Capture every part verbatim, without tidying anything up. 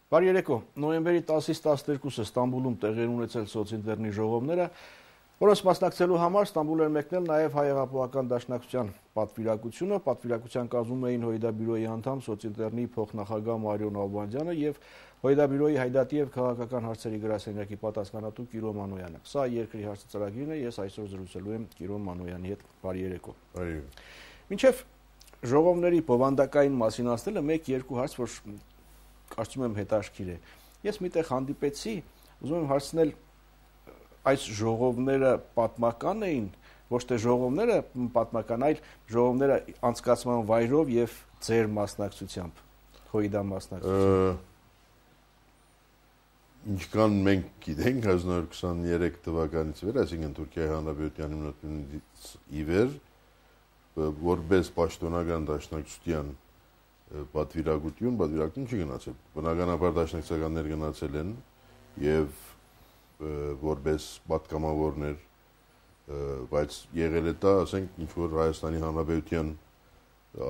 Բարի երեկո, նոյեմբերի տասից տասներկուսը Ստամբուլում տեղի ունեցել սոցինտերնի ժողովները, որոնց մասնակցելու համար Ստամբուլ էր մեկնել նաև Հայ հեղափոխական դաշնակցության պատվիրակությունը, պատվիրակության կազմում էին Հույդաբյուրոյի անդամ սոցինտերնի փոխնախագահ Մարիո Նալբանդյանը եւ Հույդաբյուրոյի հայդատի եւ քաղաքական հարցերի գրասենյակի պատասխանատու Կիրո Մանոյանը։ Սա երկրի հարցը ծրագիրն է, ես այսօր զրուցելու եմ Կիրո Մանոյանի հետ։ Բարի երեկո։ Բարի։ Մինչև ժողովների բովանդակային մասին ասելը մեկ-երկու հարց, որ կարծում եմ հետաքրքիր է։ Ես միտեղ հանդիպեցի, ուզում եմ հարցնել, այս ժողովները պատմական էին, ոչ թե ժողովները պատմական, այլ ժողովները անցկացման վայրով եւ ձեր մասնակցությամբ, Հույդա մասնակցությամբ։ Ինչքան մենք գիտենք հազար նորը քսաներեք թվականից վեր, այսինքն Թուրքիայի Հանրապետության հիմնադրումից ի վեր, որպես պաշտոնական դաշնակցության պատվիրակություն, պատվիրակություն չի գնացել։ Բնականաբար դաշնակցականներ գնացել են եւ որպես պատգամավորներ, բայց եղել է դա, ասենք, ինչ որ Հայաստանի Հանրապետության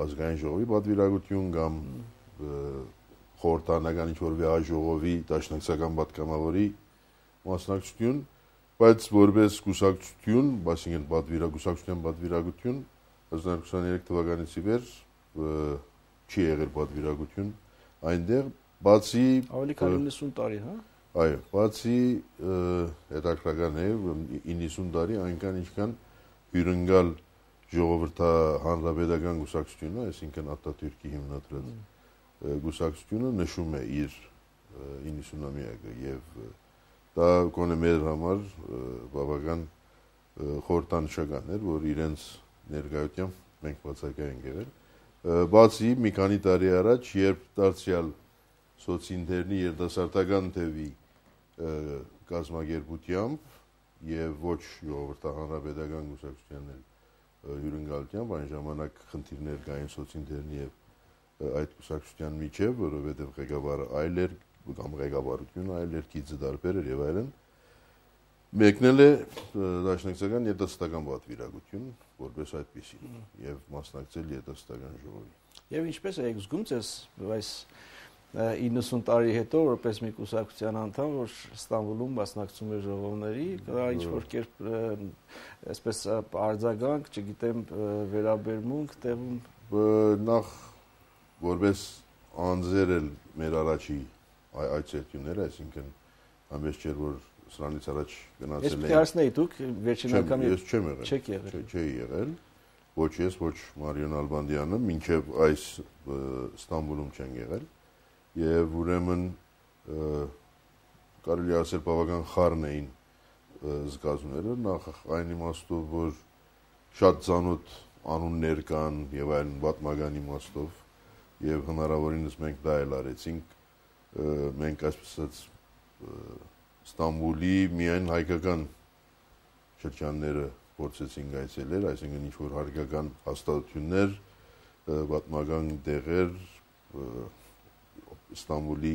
ազգային ժողովի պատվիրակություն կամ խորհրդարանական ինչ որ վեհաժողովի դաշնակցական պատգամավորի մասնակցություն, բայց որպես կուսակցություն, այսինքն պատվիրակության պատվիրակություն հազար նորը քսաներեք թվականից ի վեր չի եղել պատվիրակություն այնտեղ, բացի ավելի քան իննսուն տարի, հա։ Այո, բացի հետաքրքրական է իննսուն տարի այնքան ինչքան հյուրընկալ ժողովրդահանրապետական կուսակցությունը, այսինքն Ատատյուրքի հիմնադրած կուսակցությունը նշում է իր իննսունամյակը եւ դա կոնե մեր համար բավական խորհրդանշական էր, որ իրենց ներկայությամբ մենք բացակայ ենք եղել։ Բացի մի քանի տարի առաջ, երբ դարձյալ սոցինտերնի երիտասարդական թևի կազմակերպությամբ եւ ոչ ժողովրդահանրապետական կուսակցության հյուրընկալությամբ այն ժամանակ խնդիրներ կային սոցինտերնի եւ այդ կուսակցության միջև, որովհետեւ ղեկավարը այլ էր կամ ղեկավարությունը այլ էր, գիծը տարբեր էր եւ այլն, մեկնել է դաշնակցական երիտասարդական պատվիրակություն, որպես այդպիսի եւ մասնակցել երիտասարդական ժողովի։ Եվ ինչպես եք զգում ձեզ այս իննսուն տարի հետո, որպես մի կուսակցության անդամ, որ Ստամբուլում մասնակցում է ժողովների, դա ինչ որ կերպ այսպես արձագանք, չգիտեմ, վերաբերմունք տեղում նախ որպես անձեր էլ մեր առաջի այցելությունները, այսինքն ամենից չէր որ սրանից առաջ գնացել են։ Ես հարցնեի դուք վերջին անգամ ես չեմ եղել։ Չեք եղել։ Չի եղել։ Ոչ ես, ոչ Մարիո Նալբանդյանը, մինչև այս Ստամբուլում չեն եղել։ Եվ ուրեմն կարելի ասել բավական խառն էին զգացումները, նախ այն իմաստով, որ շատ ծանոթ անուններ կան եւ այլն պատմական իմաստով եւ հնարավորինս մենք դա էլ արեցինք, մենք այսպես Ստամբուլի միայն հայկական շրջանները փորձեցինք այցելել, այսինքն ինչ որ հայկական հաստատություններ, պատմական տեղեր, Ստամբուլի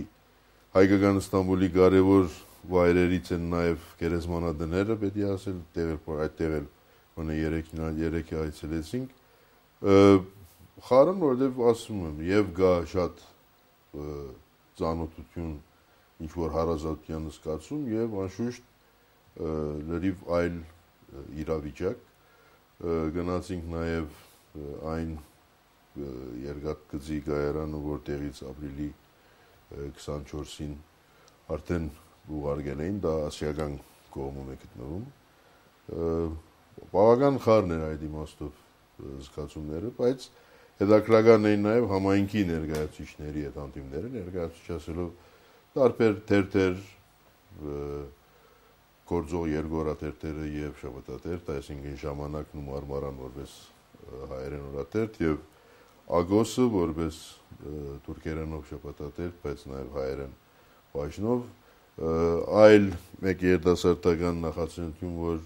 հայկական Ստամբուլի կարևոր վայրերից են նաև գերեզմանատները, պետք է ասել, տեղեր այդտեղ էլ մոնե երեքի այցելեցինք։ Խառն, որովհետև ասում եմ, եւ գա շատ ծանոթություն ինչ որ հարազատության զգացում եւ անշուշտ լրիվ այլ իրավիճակ գնացինք նաեւ այն երկաթգծի կայարանը, որտեղից ապրիլի քսանչորսին արդեն ուղարկել էին, դա ասիական կողմում է գտնվում։ Բավական խառն էր այդ իմաստով զգացումները, բայց հետաքրքրական էին նաեւ համայնքի ներկայացուցիչների այդ անդիմները, ներկայացուցիչ ասելով տարբեր թերթեր, գործող երկօրաթերթերը եւ շաբաթաթերթ, այսինքն ժամանակն ու մարմարան որպես հայերեն օրաթերթ եւ Ագոսը որպես թուրքերենով շաբաթաթերթ, բայց նաեւ հայերեն բաժնով, այլ մեկ երիտասարդական նախաձեռնություն, որ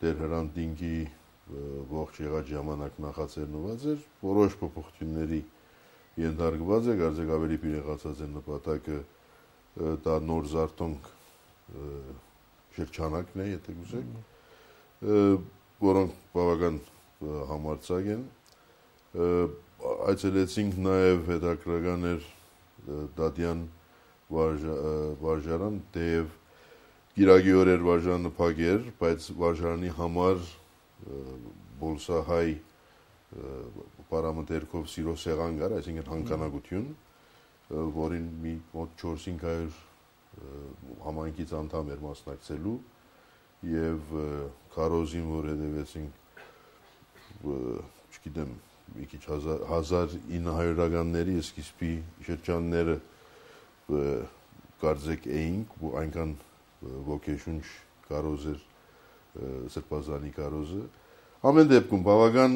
Տեր Հրանտ Դինկի ողջ եղած ժամանակ նախաձեռնված էր, որոշ փոփոխությունների ենթարկված է, կարծեք ավելի պիրեղացած է նպատակը դա նոր զարթոնք շրջանակն է, եթե գուզեք, որոնք բավական համարձակ են, այցելեցինք նաև հետաքրքրական էր Դադյան վարժարան, թեև գիրագի օրեր վարժարանը փակ էր, բայց վարժարանի համար բոլսահայ պարամտերքով սիրո սեղան կար, այսինքն հանքանակություն, որին մի մոտ չորս-հինգ հարյուր համայնքից անդամ էր մասնակցելու եւ քարոզին, որ հետևեցինք, չգիտեմ, մի քիչ հազար ինը հարյուրականների սկիզբի շրջանները կարծեք էինք, այնքան ոգեշունչ կարոզ էր Սրբազանի կարոզը։ Ամեն դեպքում բավական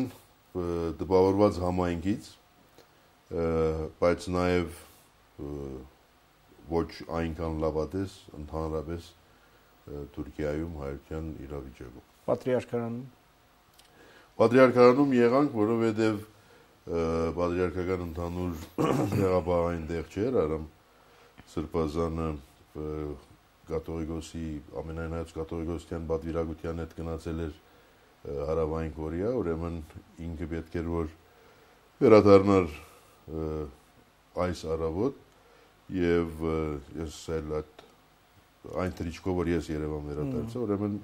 տպավորված համայնքից, բայց նաև ոչ այնքան լավատես ընդհանրապես Թուրքիայում հայության իրավիճակում։ Պատրիարքարանում Պատրիարքարանում եղանք, որովհետև պատրիարքական ընդհանուր եղաբաղային տեղ չէր, Արամ Սրբազանը կաթողիկոսի, ամենայնայց կաթողիկոսության պատվիրակության հետ գնացել էր Հարավային Կորեա, ուրեմն ինքը պետք էր, որ վերադառնար այս առավոտ եւ ես էլ այն թրիչկով, որ ես Երևան վերադարձա, ուրեմն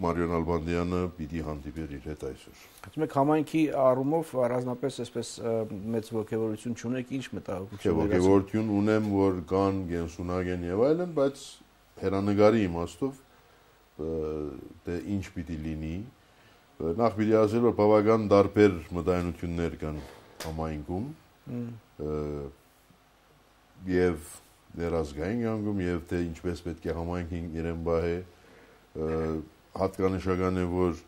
Մարիոն Ալբանդյանը պիտի հանդիպեր իր հետ այսօր։ Ասում եք համայնքի առումով առանձնապես այսպես մեծ ոգևորություն չունեք, ինչ մտահոգություն։ Ոգևորություն ունեմ, որ կան գենսունակ են եւ այլն, բայց հերանեկարի իմաստով դե ինչ պիտի լինի։ Նախ պիտի ասել, որ բավական տարբեր մտայնություններ կան համայնքում եւ ներազգային անգամ եւ թե ինչպես պետք է համայնքին իրեն բահե հատկանշական է, որ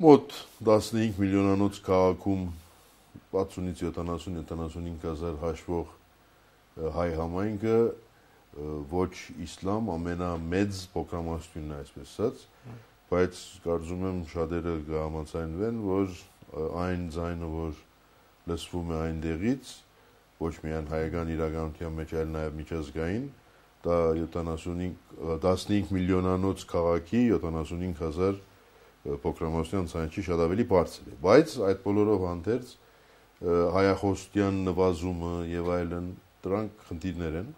մոտ տասնհինգ միլիոնանոց քաղաքում պատսունից յոթանասուն յոթանասունհինգ հազար հաշվող հայ համայնքը ոչ իսլամ ամենամեծ փոքրամասնությունն է, այսպես ասած, բայց կարծում եմ շատերը կհամաձայնվեն, որ այն ձայնը, որ լսվում է այնտեղից, ոչ միայն հայկական իրականության մեջ, այլ նաև միջազգային, դա տասնհինգ միլիոնանոց քաղաքի յոթանասունհինգ հազար փոքրամասնության ցանցի շատ ավելի բարձր է, բայց այդ բոլորով հանդերձ հայախոսության նվազումը եւ այլն դրանք խնդիրներ են,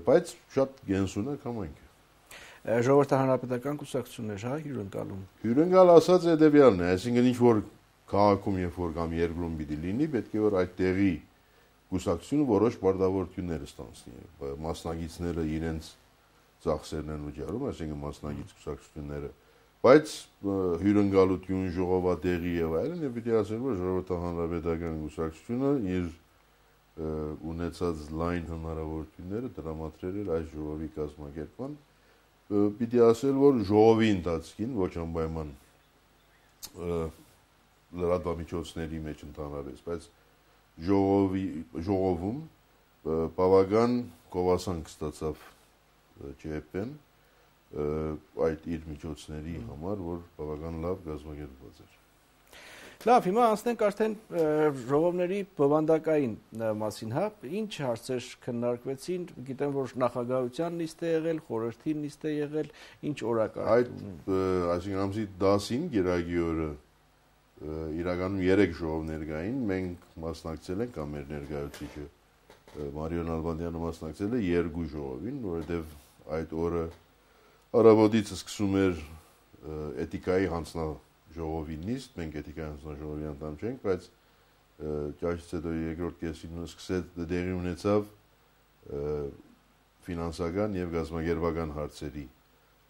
բայց շատ գենսունակ համայնք է։ Ժողովրդի հանրապետական կուսակցություններ, հա, հյուրընկալում։ Հյուրընկալ ասած հետեւյալն է, այսինքն ինչ որ քաղաքում երբ որ կամ երկրում պիտի լինի, պետք է որ այդ տեղի կուսակցությունը որոշ պարտավորություններ ստանցնի, մասնագետները իրենց ծախսերն են վճարում, այսինքն մասնագետ կուսակցությունները, բայց հյուրընկալություն, ժողովատեղի եւ այլն, եւ պիտի ասել, որ ժողովրդի հանրապետական կուսակցությունը իր ունեցած լայն հնարավորությունները տրամադրել էր այս ժողովի կազմակերպման, պիտի ասել, որ ժողովի ընթացքին ոչ անպայման լրատվամիջոցների մեջ ընդհանրապես, բայց ժողովի ժողովում բավական գովասանք ստացավ ՃՀՊ-ն այդ իր միջոցների համար, որ բավական լավ կազմակերպված էր։ Լավ, հիմա անցնենք արդեն ժողովների բովանդակային մասին, հա, ինչ հարցեր քննարկվեցին, գիտեմ, որ նախագահության նիստ է եղել, խորհրդի նիստ է եղել, ինչ օրակարգ։ Այդ, այսինքն ամսի դասին գիրագի օրը իրականում երեք ժողովներ կային, մենք մասնակցել ենք, կամ մեր ներկայացուցիչը Մարիոն Ալբանդյանը մասնակցել է երկու ժողովին, որովհետև այդ օրը առավոտից սկսում էր էթիկայի հանձնաժողովի նիստ, մենք էթիկայի հանձնաժողովի անդամ չենք, բայց ճաշից հետո երկրորդ կեսին սկսեց դեղի ունեցավ ֆինանսական եւ գազագերբական հարցերի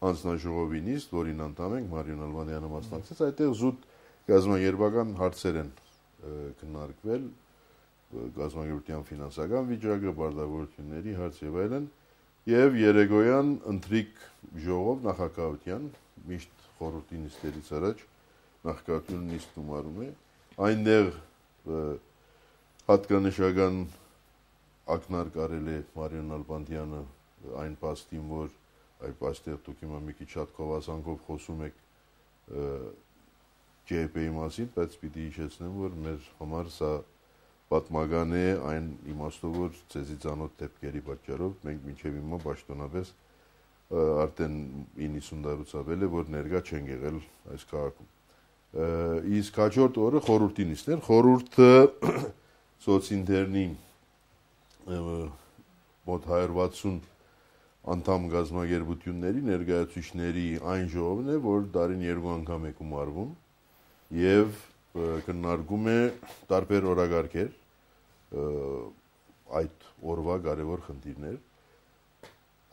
հանձնաժողովի նիստ, որին անդամ ենք, Մարիոն Ալբանդյանը մասնակցեց, այդտեղ զուտ գազագերբական հարցեր են քննարկվել, գազագերբության ֆինանսական վիճակը, բարդագործությունների հարց եւ այլն, եւ երեկոյան ընթրիկ ժողով նախագահության միշտ խորհրդի նիստերից առաջ նախագահությունը նիստ գումարում է, այնտեղ հատկանշական ակնարկ արել է Մարիոն Ալբանդյանը այն փաստին, որ այդ այստեղ դուք հիմա մի քիչ շատ գովասանքով խոսում եք ՃՀՊ-ի մասին, բայց պիտի հիշեցնեմ, որ մեր համար սա պատմական է այն իմաստով, որ ցեզի ցանոթ դեպքերի պատճառով մենք մինչև հիմա պաշտոնապես արդեն իննսուն տարուց ավել է, որ ներկա չեն եղել այս քաղաքում։ Իսկ հաջորդ օրը խորհրդի նիստն էր, խորհուրդը սոցինտերնի մոտ հարյուր վաթսուն անդամ գազագերբությունների ներկայացուցիչների այն ժողովն է, որ տարին երկու անգամ է գումարվում եւ քննարկում է տարբեր օրագարկեր այդ օրվա կարևոր խնդիրներ։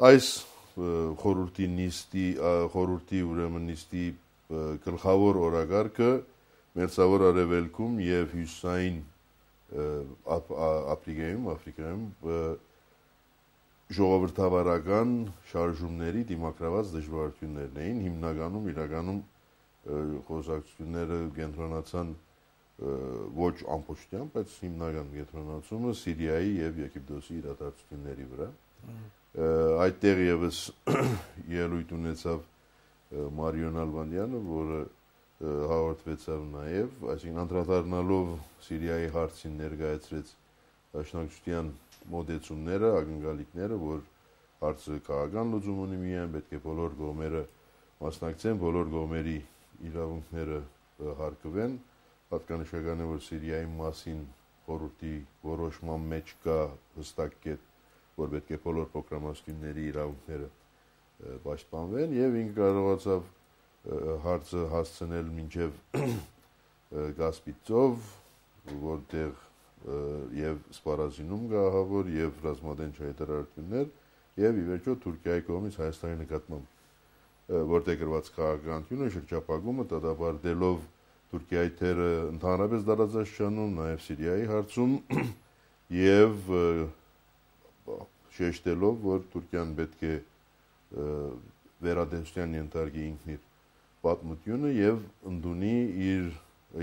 Այս խորհրդի նիստի խորհրդի ուրեմն նիստի գլխավոր օրագարկը Մերձավոր Արևելքում եւ Հյուսիսային Աֆրիկայում Աֆրիկայում ժողովրդավարական շարժումների դիմակրաված դժվարություններն էին, հիմնականում իրականում խոսակցությունները կենտրոնացան ոչ ամբողջությամբ, բայց հիմնական կենտրոնացումը Սիրիայի եւ Եգիպտոսի իրադարձությունների վրա։ Այդտեղ եւս ելույթ ունեցավ Մարիոն Ալբանդյանը, որը հաղորդվեցավ նաեւ, այսինքն անդրադառնալով Սիրիայի հարցին ներկայացրեց դաշնակցության մոտեցումները, ակնկալիքները, որ հարցը քաղաքական լուծում ունի միայն, պետք է բոլոր կողմերը մասնակցեն, բոլոր կողմերի իրավունքները հարգվեն։ Պատկանշական է, որ Սիրիայի մասին խորհրդի որոշման մեջ կա հստակ կետ, որ պետք է բոլոր փոքրամասնությունների իրավունքները պաշտպանվեն, եւ ինքը կարողացավ հարցը հասցնել մինչև Կասպից ծով, որտեղ եւ սպառազինում գահավոր եւ ռազմադեն հայտարարություններ եւ ի վերջո Թուրքիայի կողմից Հայաստանի նկատմամբ որտեղ գրված քաղաքականությունը շրջապակումը դատապարտելով Թուրքիայի թերը ընդհանրապես դարաձաշանում, նաեւ Սիրիայի հարցում եւ շեշտելով, որ Թուրքիան պետք է վերադարձության ենթարկի ինքն իր պատմությունը եւ ընդունի իր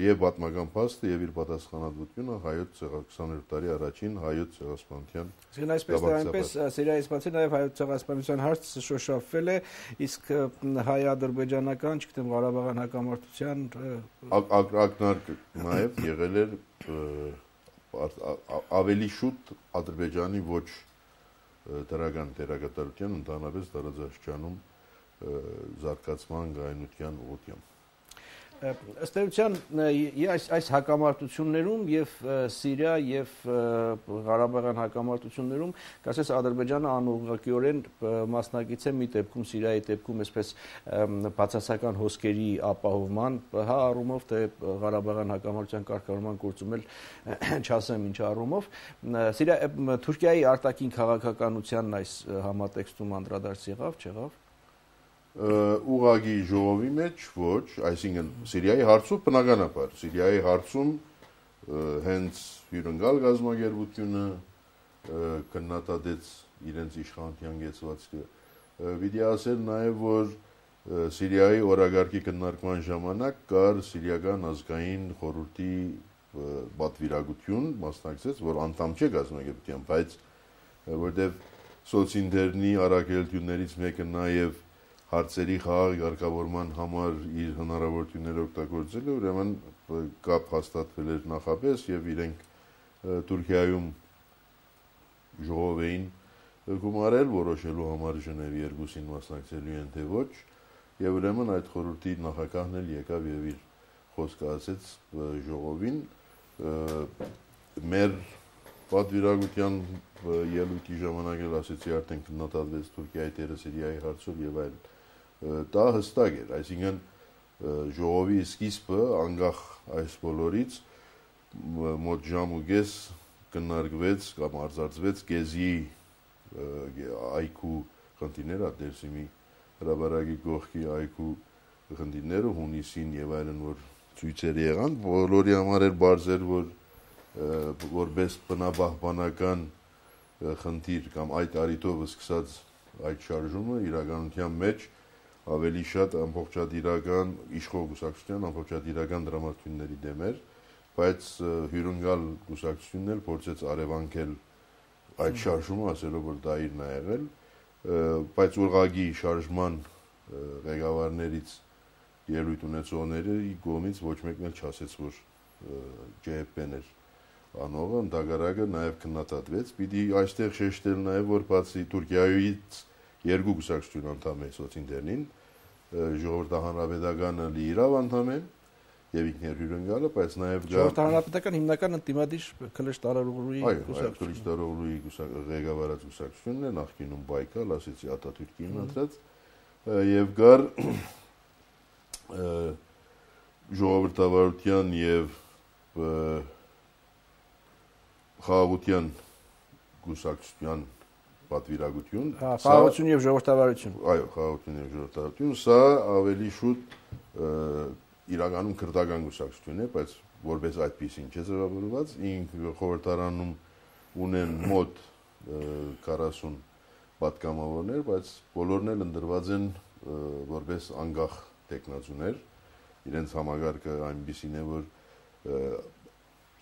եւ պատմական փաստը եւ իր պատասխանատվությունը հայոց քսաներորդ տարի առաջին հայոց ցեղասպանության։ Իսկ այսպես թե այնպես Սիրիայից բացի նաեւ հայոց ցեղասպանության հարցը շոշափվել է, իսկ հայ-ադրբեջանական, չգիտեմ, Ղարաբաղյան հակամարտության ակնարկ նաեւ եղել էր ավելի շուտ Ադրբեջանի ոչ դրական դերակատարության ընդհանրապես տարածաշրջանում զարգացման գայունության ուղղությամբ։ Ըստ էության այս այս հակամարտություններում եւ Սիրիա եւ Ղարաբաղյան հակամարտություններում կասես Ադրբեջանը անուղղակիորեն մասնակից է մի դեպքում Սիրիայի դեպքում այսպես բացասական հոսքերի ապահովման, հա առումով թե Ղարաբաղյան հակամարտության կարգավորման գործում էլ չասեմ ինչ առումով Սիրիա Թուրքիայի արտաքին քաղաքականությանն այս համատեքստում անդրադարձ եղավ, չեղավ։ Ուղղակի ժողովի մեջ ոչ, այսինքն Սիրիայի հարցում բնականաբար, Սիրիայի հարցում հենց հյուրընկալ գազագերբությունը քննադատեց իրենց իշխանության գեցվածքը։ Պիտի ասել նաև, որ Սիրիայի օրագարկի քննարկման ժամանակ կար Սիրիական ազգային խորհրդի պատվիրակություն, մասնակցեց, որ անդամ չէ գազագերբության, բայց որտեղ սոցինտերնի առաքելություններից մեկը նաև հարցերի խաղաղ ղեկավարման համար իր հնարավորությունները օգտագործել է, ուրեմն կապ հաստատվել էր նախապես եւ իրենք Թուրքիայում ժողով էին գումարել որոշելու համար Ժնևի երկուսին մասնակցելու են թե ոչ, եւ ուրեմն այդ խորհրդի նախագահն էլ եկավ եւ իր խոսքը ասեց ժողովին մեր պատվիրակության ելույթի ժամանակ էլ ասեցի արդեն քննադատվեց Թուրքիայի դերը Սիրիայի հարցով եւ այլ դա հստակ էր, այսինքն ժողովի սկիզբը անկախ այս բոլորից մոտ ժամ ու կես քննարկվեց կամ արձարծվեց Գեզի այգու խնդիրները, Դերսիմի հրաբարակի կողքի այգու խնդիրները հունիսին եւ այլն, որ ցույցեր եղան, բոլորի համար էր բարձր, որ որպես բնապահպանական խնդիր կամ այդ արիտով սկսած այդ շարժումը իրականության մեջ ավելի շատ ամբողջատիրական իշխող կուսակցության ամբողջատիրական դրամատուրգների դեմ էր, բայց հյուրընկալ կուսակցությունն էլ փորձեց արևանքել այդ շարժումը, ասելով որ դա իրն է եղել, բայց ուղղակի շարժման ղեկավարներից ելույթ ունեցողների կողմից ոչ մեկն էլ չասեց, որ ջե էփ պեն էր անողը, ընդհակառակը նաև քննադատվեց։ Պիտի այստեղ շեշտել նաև, որ բացի Թուրքիայից երկու կուսակցություն անդամ է սոցինտերնին, ժողովրդահանրապետականը լիիրավ անդամ են եւ ինքներ հյուրընկալը, բայց նաեւ Ժողովրդի հանրապետական հիմնական ընդդիմադիր Քլեշ Տարօղլուի կուսակցությունը։ Քլեշ Տարօղլուի ղեկավարած կուսակցությունն է, նախկինում Բայկալ, ասեցի Աթաթուրքի ընտրած, եւ գար ժողովրդավարության եւ խաղաղության կուսակցության պատվիրակություն, խաղաղություն եւ ժողովրդավարություն։ Այո, խաղաղություն եւ ժողովրդավարություն, սա ավելի շուտ իրականում քրդական կուսակցություն է, բայց որպես այդպեսին չէ ձևավորված, ինքը խորհրդարանում ունեն մոտ քառասուն պատգամավորներ, բայց բոլորն էլ ընտրված են որպես անկախ տեխնացուներ, իրենց համագարկը այնպեսին է, որ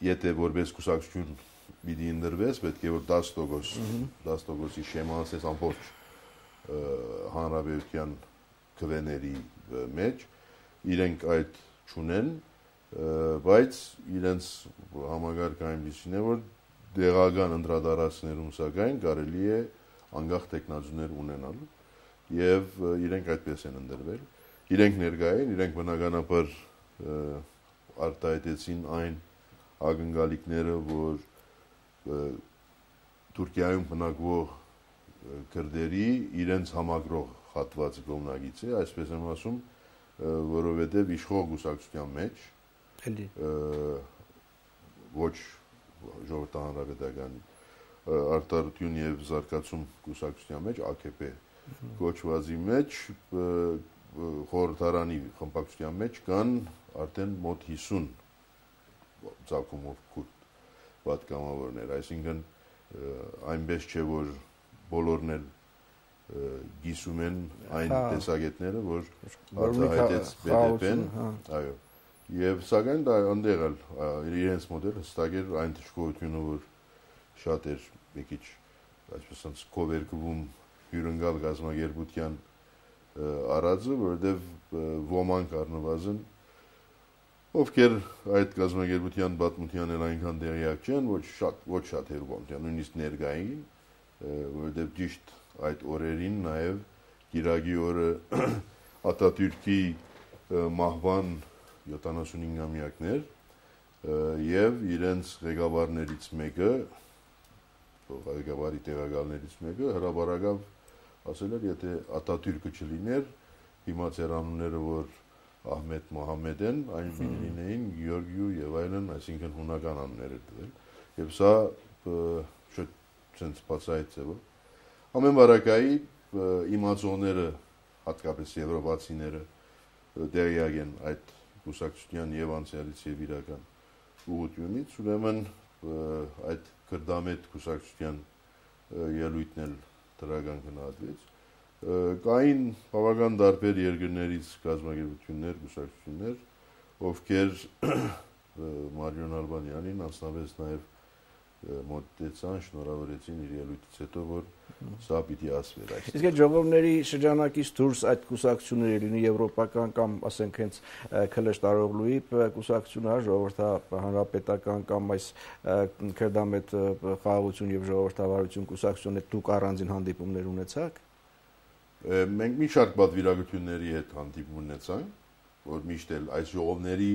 եթե որպես կուսակցություն պիտի ընտրվես, պետք է որ դաս տոկոս շեմա ասես ամբողջ հանրապետության քվեների մեջ, իրենք այդ չունեն, բայց իրենց համագարկը այնպեսին է, որ դեղական ընտրադարածներում սակայն կարելի է անկախ տեխնացուներ ունենալ եւ իրենք այդպես են ընտրվել։ Իրենք ներկայ են, իրենք բնականաբար արտահայտեցին այն ակնկալիքները, որ Թուրքիայում բնակվող քրդերի իրենց համագրող հատվածը կողմնակից է, այսպես եմ ասում, որովհետև իշխող կուսակցության մեջ ոչ ժողովրդի հանրապետական արտարություն եւ զարգացում կուսակցության մեջ A K P կոչվածի մեջ խորհրդարանի խմբակցության մեջ կան արդեն մոտ հիսուն ցակումով քուրդ պատգամավորներ, այսինքն այնպես չէ, որ բոլորն էլ գիսում են այն տեսակետները, որ արտահայտեց B D P-ն, այո, եւ սակայն դա այնտեղ էլ իրենց մոդել հստակ էր այն թշկողությունը, որ շատ էր մի քիչ այսպես ասած կովերկվում հյուրընկալ գազագերբության արածը, որովհետեւ ոմանք առնվազն ովքեր այդ գազագերբության պատմության էլ այնքան տեղյակ չեն, ոչ շատ ոչ շատ հերբոնտյան, նույնիսկ ներկային, որովհետեւ ճիշտ այդ օրերին նաև Գիրագի օրը Աթաթուրքի մահվան յոթանասունհինգամյակներ եւ իրենց ղեկավարներից մեկը, ղեկավարի տեղակալներից մեկը հրաբարակավ ասել էր, եթե Աթաթուրքը չլիներ, հիմա ծեր անունները, որ Ահմեդ Մոհամեդ են, այն լինեին Գյորգիու եւ այլն, այսինքն հունական անուններ էր դրել։ Եվ սա շատ ցենց բացայց է, ամեն բարակայի իմացողները, հատկապես եվրոպացիները տեղյակ են այդ կուսակցության եւ անցյալից եւ իրական ուղղությունից, ուրեմն այդ քրդամետ կուսակցության ելույթն էլ դրական գնահատվեց։ Կային բավական տարբեր երկրներից կազմակերպություններ, կուսակցություններ, ովքեր Մարիոն Ալբանյանին անձնապես նաեւ մոտեցան, շնորհավորեցին իր ելույթից հետո, որ սա պիտի ասվեր այստեղ։ Իսկ այդ ժողովների շրջանակից դուրս այդ կուսակցությունները լինի եվրոպական կամ ասենք հենց Քլեշ Տարօղլուի կուսակցությունը, ժողովրդի հանրապետական կամ այս քրդամետ խաղաղություն եւ ժողովրդավարություն կուսակցությունը դուք առանձին հանդիպումներ ունեցաք։ Մենք մի շարք պատվիրակությունների հետ հանդիպում ունեցանք, որ միշտ էլ այս ժողովների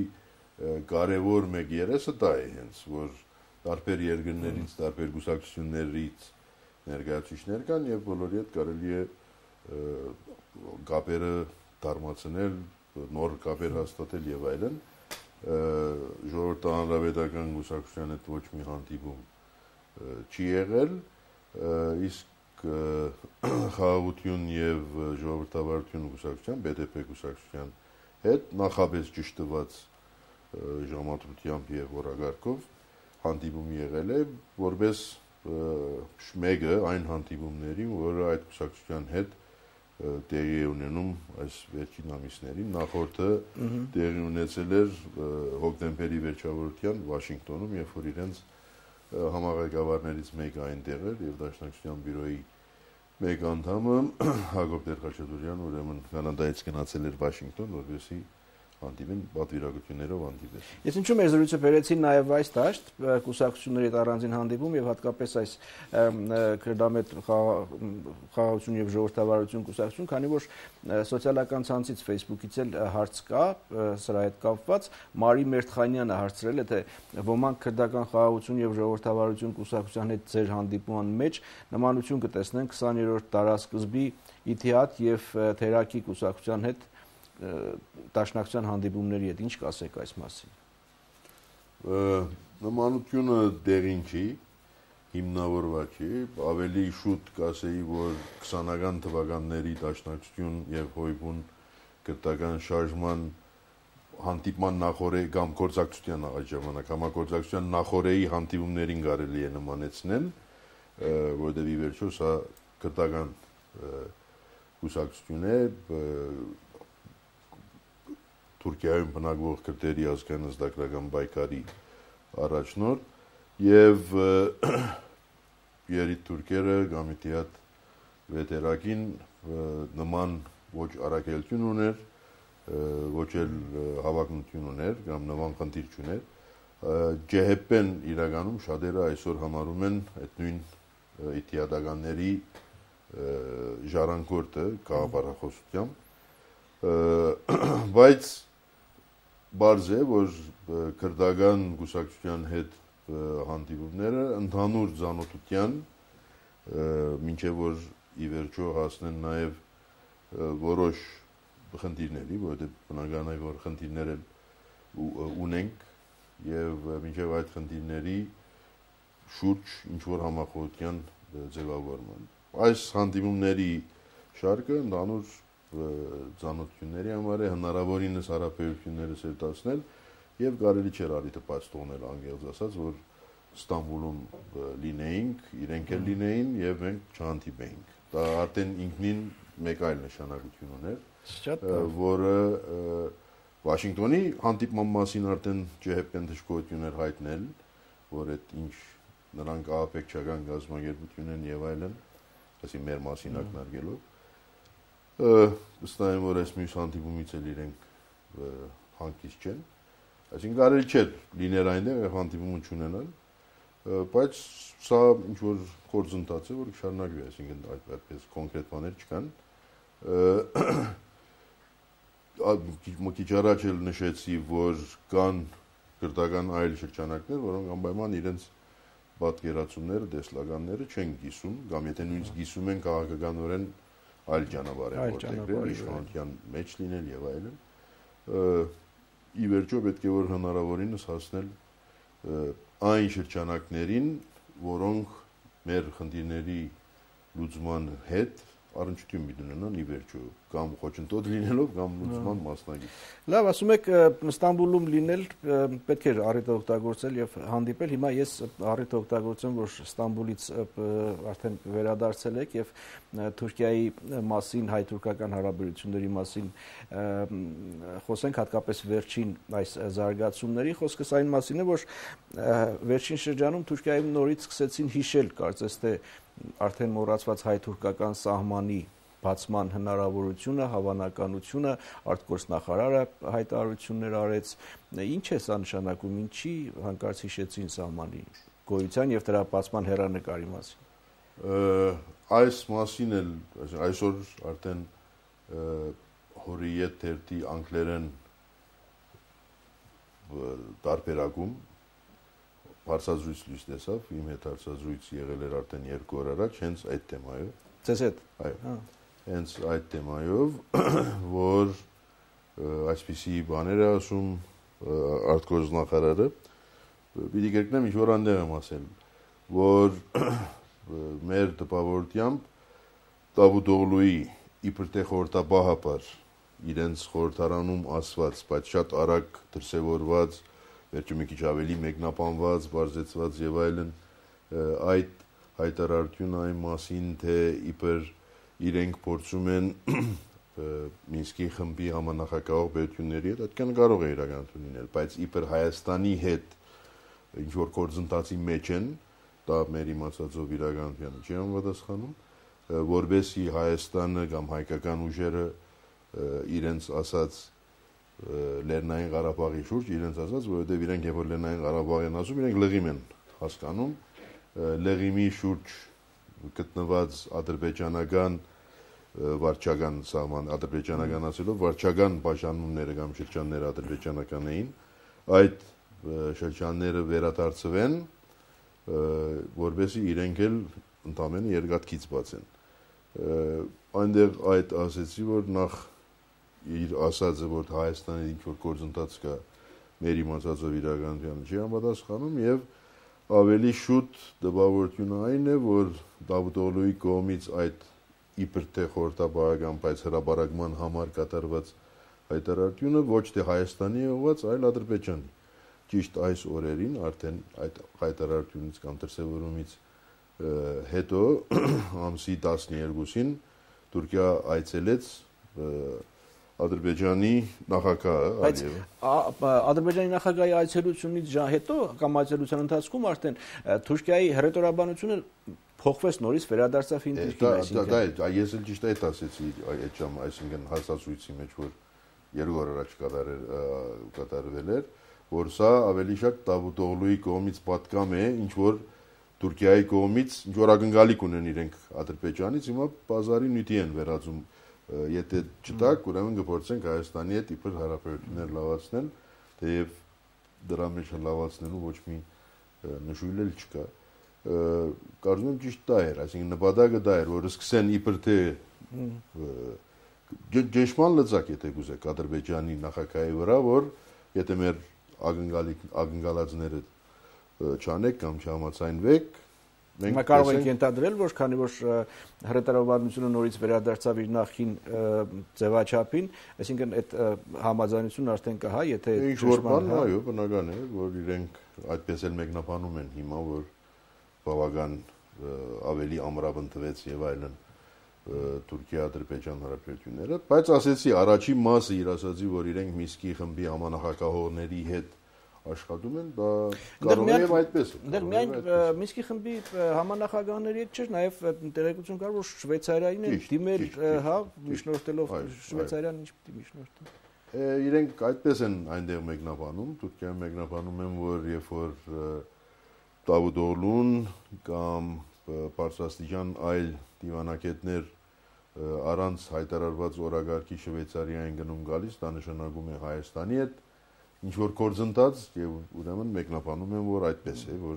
կարևոր մեկ երեսը դա է հենց, որ տարբեր երկրներից, տարբեր կուսակցություններից ներկայացուցիչներ կան եւ բոլորի հետ կարելի է կապերը դարմացնել, նոր կապեր հաստատել եւ այլն։ Ժողովրդի հանրապետական կուսակցության հետ ոչ մի հանդիպում չի եղել, իսկ խաղաղություն եւ ժողովրդավարություն կուսակցության, B D P կուսակցության հետ նախապես ճշտված ժամադրությամբ եւ օրակարգով հանդիպում եղել է, որպես մեկը այն հանդիպումներին, որը այդ կուսակցության հետ տեղի է ունենում այս վերջին ամիսներին, նախորդը տեղի ունեցել էր հոկտեմբերի վերջավորության Վաշինգտոնում, երբ որ իրենց համաղեկավարներից մեկը այնտեղ էր եւ Դաշնակցության բյուրոյի մեկ անդամը Հակոբ Տեր-Խաչատուրյան ուրեմն Կանադայից գնացել էր Վաշինգտոն, որպեսզի հանդիպեն, պատվիրակություններով հանդիպեն։ Ես ինչու մեր զրույցը բերեցին նաև այս դաշտ կուսակցությունների հետ առանձին հանդիպում եւ հատկապես այս քրդամետ խաղաղություն եւ ժողովրդավարություն կուսակցություն, քանի որ սոցիալական ցանցից Facebook-ից էլ հարց կա սրա հետ կապված, Մարի Մերթխանյանը հարցրել է, թե ոմանք քրդական խաղաղություն եւ ժողովրդավարություն կուսակցության հետ ձեր հանդիպման մեջ նմանություն կտեսնեն քսաներորդ դարաշրջանի Իթիհադ եւ Թերակի կուսակցության հետ Դաշնակցության հանդիպումների հետ ինչ կասեք այս մասին։ Նմանությունը դեղին չի, հիմնավորված չի, ավելի շուտ կասեի, որ քսանական թվականների Դաշնակցություն եւ Հոյբուն կրթական շարժման հանդիպման նախորդ կամ գործակցության այդ ժամանակ համագործակցության նախորդի հանդիպումներին կարելի է նմանեցնել, որտեղ ի վերջո սա կրթական կուսակցություն է, Թուրքիայում բնակվող քրդերի ազգային ազգագրական պայքարի առաջնորդ եւ երիտ թուրքերը կամ Իթիհադ վետերակին նման ոչ առաքելություն ուներ, ոչ էլ հավակնություն ուներ կամ նման խնդիր չուներ։ ջե հե պեն իրականում շատերը այսօր համարում են այդ նույն իթիհադականների ժառանգորդը գաղափարախոսությամբ, բայց Բարձ է, որ քրդական կուսակցության հետ հանդիպումները ընդհանուր ծանոթության, մինչև որ ի վերջո հասնեն նաև որոշ խնդիրների, որովհետև բնական է, որ խնդիրներ ունենք եւ մինչև այդ խնդիրների շուրջ ինչ որ համախոհության ձևավորման։ Այս հանդիպումների շարքը ընդհանուր ծանոթությունների համար է հնարավորինս հարաբերությունները սերտացնել եւ կարելի չէր արիթը բաց թողնել անգերձ ասած, որ Ստամբուլում լինեինք, իրենք էլ լինեին եւ մենք չհանդիպեինք։ Դա արդեն ինքնին մեկ այլ նշանակություն ուներ, որը Վաշինգտոնի հանդիպման մասին արդեն ջե հե պեն դժգոհություն էր հայտնել, որ այդ ինչ նրանք ահաբեկչական գազམ་ագերբություն են եւ այլն, ասի մեր մասին ակնարկելով վստահ եմ, որ այս մյուս հանդիպումից էլ իրենք հանգիստ չեն, այսինքն կարելի չէր լինել այնտեղ եւ հանդիպում չունենալ, բայց սա ինչ որ գործընթաց է, որ կշարունակվի, այսինքն այդպես կոնկրետ բաներ չկան։ Մի քիչ առաջ էլ նշեցի, որ կան քրդական այլ շրջանակներ, որոնք անպայման իրենց պատկերացումները, տեսլականները չեն կիսում, կամ եթե նույնիսկ կիսում են քաղաքականորեն այլ ճանապարհ են որտեղ իշխանության մեջ լինել եւ այլն։ Ի վերջո պետք է որ հնարավորինս հասնել այն շրջանակներին, որոնք մեր խնդիրների լուծման հետ առնչություն ունենան ի վերջո կամ խոչընդոտ լինելով կամ լուծման մասնագետ։ Լավ, ասում եք Ստամբուլում լինել պետք է առիթը օգտագործել եւ հանդիպել։ Հիմա ես առիթը օգտագործեմ, որ Ստամբուլից արդեն վերադարձել եք եւ Թուրքիայի մասին, հայ-թուրքական հարաբերությունների մասին խոսենք, հատկապես վերջին այս զարգացումների։ Խոսքս այն մասին է, որ վերջին շրջանում Թուրքիայում նորից սկսեցին հիշել, կարծես թե արդեն մոռացված հայ-թուրքական սահմանի բացման հնարավորությունը, հավանականությունը, արտգործնախարարը հայտարարություններ արեց։ Ինչ է սա նշանակում, ինչի հանկարծ հիշեցին սահմանի գոյության եւ դրա բացման հեռանկարի մասին։ Այս մասին էլ այսօր արդեն Հորիետ թերթի անգլերեն տարբերակում հարցազրույց լույս տեսավ, իմ հետ հարցազրույց եղել էր արդեն երկու օր առաջ, հենց այդ թեմայով։ Ձեզ հետ։ Այո։ Հենց այդ թեմայով, որ այսպիսի բաներ է ասում արտգործնախարարը, պիտի կրկնեմ, ինչ որ այնտեղ եմ ասել, որ մեր տպավորությամբ Դավութօղլուի իբր թե խորհրդաբահապար իրենց խորհրդարանում ասված, բայց շատ արագ դրսևորված վերջը մի քիչ ավելի մեկնաբանված, բարձեցված եւ այլն այդ հայտարարությունը այն մասին, թե իբր իրենք փորձում են Մինսկի խմբի համանախագահող պետությունների հետ, այդքան կարող է իրականություն լինել, բայց իբր Հայաստանի հետ ինչ որ գործընթացի մեջ են, դա մեր իմացածով իրականությանը չի համապատասխանում, որբեսի Հայաստանը կամ հայկական ուժերը իրենց ասած Լեռնային Ղարաբաղի շուրջ, իրենց ասած, որովհետև իրենք երբ որ Լեռնային Ղարաբաղ են ասում, իրենք լղիմ են հասկանում, լղիմի շուրջ գտնված ադրբեջանական վարչական սահման, ադրբեջանական ասելով, վարչական պաշտպանումները կամ շրջանները ադրբեջանական էին, այդ շրջանները վերադարձվեն, որովհետեւ իրենք էլ ընդամենը երկաթքից բացեն։ Այնտեղ այդ ասեցի, որ նախ իր ասածը, որ Հայաստանի ինչ որ գործընթաց կա մեր իմացածով իրականության չի համապատասխանում եւ ավելի շուտ դպավորությունը այն է, որ Դավութ Օղլուի կողմից այդ իբր թե խորհրդաբարական, բայց հրաբարակման համար կատարված հայտարարությունը ոչ թե Հայաստանի է ուղղված, այլ Ադրբեջանի։ Ճիշտ այս օրերին արդեն այդ հայտարարությունից կամ դրսևորումից հետո ամսի տասներկուսին Թուրքիա այցելեց Ադրբեջանի նախագահը Ալիևը։ Ադրբեջանի նախագահի այցելությունից հետո կամ այցելության ընթացքում արդեն Թուրքիայի հռետորաբանությունը փոխվեց նորից վերադարձավ հին Թուրքիան։ Դա ես էլ ճիշտ այդ ասեցի այդ ժամը, այսինքն հասցույցի մեջ, որ երկու օր առաջ կատարվել էր, որ սա ավելի շատ Դավութ Օղլուի կողմից պատկամ է, ինչ որ Թուրքիայի կողմից ինչ որ ակնկալիք ունեն իրենք Ադրբեջանից, հիմա բազարի նյութի են վերածում։ Եթե չտակ, ուրեմն կփորձենք Հայաստանի հետ իբր հարաբերություններ լավացնել, թեև դրա մեջ լավացնելու ոչ մի նշույլ էլ չկա։ Կարծում եմ ճիշտ դա էր, այսինքն նպատակը դա էր, որ սկսեն իբր թե ջեշման լծակ, եթե կուզեք Ադրբեջանի նախագահի վրա, որ եթե մեր ակնկալածները չանեք կամ չհամաձայնվեք, մենք կարող ենք ենթադրել, որ քանի որ հռետորաբանությունը նորից վերադարձավ իր նախին ձևաչափին, այսինքն այդ համաձայնությունն արդեն կա, հա, եթե ինչ որ բան, այո, բնական է, որ իրենք այդպես էլ մեկնաբանում են հիմա, որ բավական ավելի ամրապն տվեց եւ այլն Թուրքիա-Ադրբեջան հարաբերությունները, բայց ասեցի առաջին մասը իր ասացի, որ իրենք Միսկի խմբի համանախագահողների հետ աշխատում են, դա կարող է այդպես։ Դեռ միայն Միսկի խմբի համանախագահների հետ չէր, նաև տեղեկություն կար, որ Շվեյցարիային են դիմել, հա, միջնորդելով Շվեյցարիան ինչ պիտի միջնորդեն։ Իրենք այդպես են այնտեղ մեկնաբանում, Թուրքիայում մեկնաբանում են, որ երբ որ Դավութ Օղլուն կամ բարձրաստիճան այլ դիվանագետներ առանց հայտարարված օրակարգի Շվեյցարիային գնում գալիս, դա նշանակում է Հայաստանի հետ ինչ որ գործընթաց եւ ուրեմն մեկնաբանում են, որ այդպես է, որ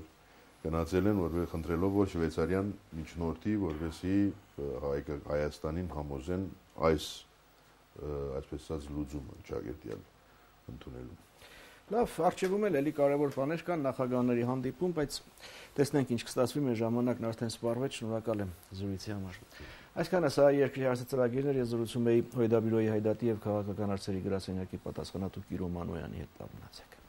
գնացել են, որովհետեւ խնդրելով, որ Շվեյցարիան միջնորդի, որովհետեւ Հայաստանին համոզեն այս այսպես ասած լուծումը ճակերտյալ ընդունելու։ Լավ, արժևում էլ էլի կարևոր բաներ կան նախագահների հանդիպում, բայց տեսնենք ինչ կստացվի, մեր ժամանակն արդեն սպառվեց, շնորհակալ եմ զրույցի համար։ Այսքանը սա երկրի հարցածրագիրներ, ես զրուցում էի Հույդաբյուրոյի հայդատի եւ քաղաքական հարցերի գրասենյակի պատասխանատու Կիրո Մանոյանի հետ։ Մնացեք։